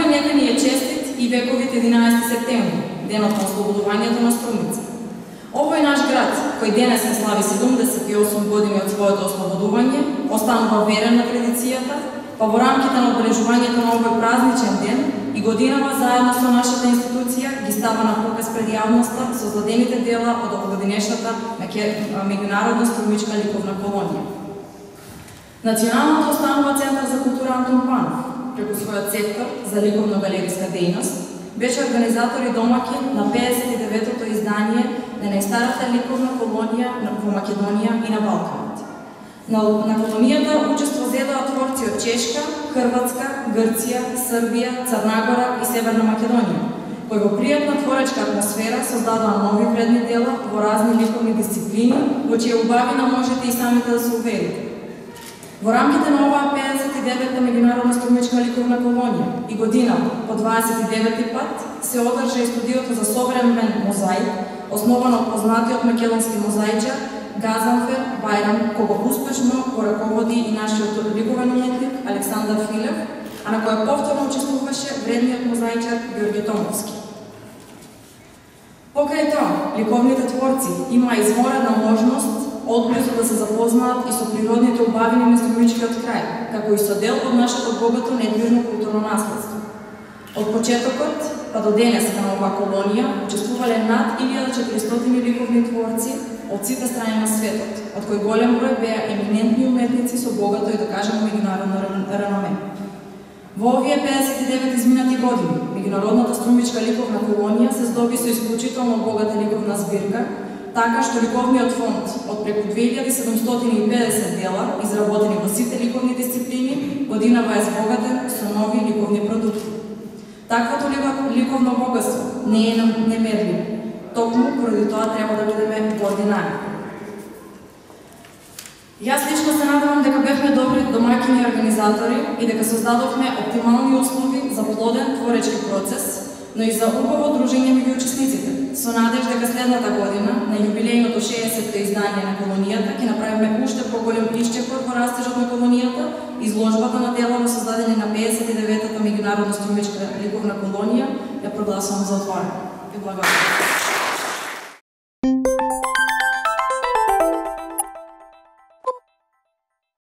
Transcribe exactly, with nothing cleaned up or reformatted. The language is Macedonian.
нека ни е честит и вековит единаесети септември, денот на ослободувањето на Струмица. Овој наш град, кој денес не слави седумдесет и осум години од своето ослободување, останува верен на традицијата, па во рамките на обележувањето на овој празничен ден и годинава заедно со нашата институција ги става на показ пред јавноста создадените дела од овогодинешната меѓународна струмичка ликовна колонија. Националното установа Центар за култура Антон Панов, преку својот сектор за ликовно-галериска дејност, беше организатор и домаќин на педесет и деветото издание на најстарата ликовна колонија во Македонија и на Балканот. На, на колонијата учество зедоа творци од Чешка, Хрватска, Грција, Србија, Црна Гора и Северна Македонија, кои во пријатна творечка атмосфера создадоа нови вредни дела во разни ликовни дисциплини, во чија убавина можете и самите да се уверите. Во рамките на оваа педесет и девета меѓународна струмичка ликовна колонија и година по дваесет и девети пат се одржа и студиото за современ мозаик, основано од познатиот македонски мозаичар Газанфер Бајрам, кого успешно го раководи и нашиот ликовен уметник Александар Филев, а на која повторно учествуваше вредниот мозаичар Ѓорѓе Томовски. Покрај тоа, ликовните творци имаа изморедна можност одблизу да се запознаат и со природните убавини на струмичкиот крај, како и со дел од нашето богато недвижно културно наследство. Од почетокот па до денес на оваа колонија учествувале над илјада и четиристотини ликовни творци од сите страни на светот, од кои голем број беа еминентни уметници со богато и да кажеме меѓународно реноме. Во овие педесет и девет изминати години, меѓународната струмичка ликовна колонија се здоби со исклучително богата ликовна збирка, така што ликовниот фонд од преку две илјади седумстотини и педесет дела, изработени во сите ликовни дисциплини, годинава е збогатен со нови ликовни продукти. Таквото ликовно богатство не е немерливо, токму поради тоа треба да бидеме координарни. Јас лично се надевам дека бевме добри домаќини и организатори и дека создадовме оптимални услови за плоден творечки процес, но и за убаво дружење меѓу учесниците, со надеж дека следната година, на јубилејното шеесетто издание на колонијата, ќе направиме уште поголем исчекор во растежот на колонијата, изложбата на дела создадени на педесет и деветата меѓународна струмичка ликовна колонија, ја прогласувам за отворена. Ви благодарам.